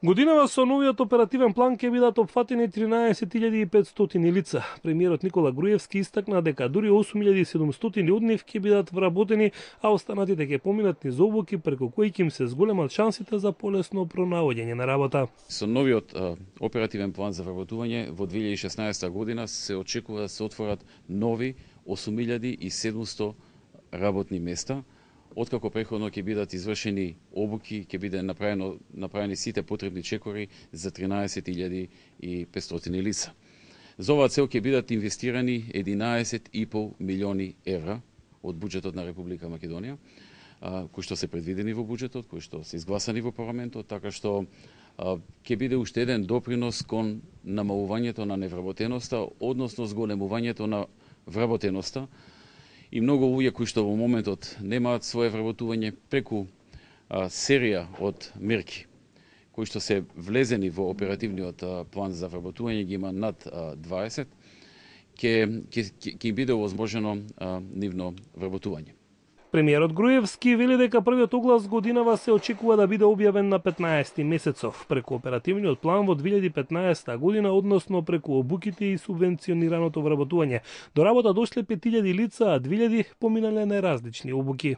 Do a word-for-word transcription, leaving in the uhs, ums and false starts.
Годинава со новиот оперативен план ќе бидат опфатени тринаесет илјади и петстотини лица. Премиерот Никола Груевски истакна дека дури осум илјади и седумстотини од нив ќе бидат вработени, а останатите ќе поминат низ обуки преку кои ќе им се зголемат шансите за полесно пронаоѓање на работа. Со новиот а, оперативен план за вработување во две илјади и шеснаесета година се очекува да се отворат нови осум илјади и седумстотини работни места. Откако преходно ќе бидат извршени обуки, ќе биде направено направени сите потребни чекори за тринаесет илјади и петстотини лица. За оваа цел ќе бидат инвестирани единаесет и пол милиони евра од буџетот на Република Македонија, кои што се предвидени во буџетот, кои што се изгласани во парламентот, така што ќе биде уште еден допринос кон намалувањето на невработеноста, односно зголемувањето на вработеноста. И многу луѓе кои што во моментот немаат свое вработување преку а, серија од мерки кои што се влезени во оперативниот а, план за вработување, ги има над а, дваесет, ќе ќе ќе им биде овозможено а, нивно вработување. Премиерот Груевски вели дека првиот оглас годинава се очекува да биде објавен на петнаесети месецов преку оперативниот план во две илјади и петнаесета година, односно преку обуките и субвенционираното вработување. До работа дошле пет илјади лица, а две илјади поминале на различни обуки.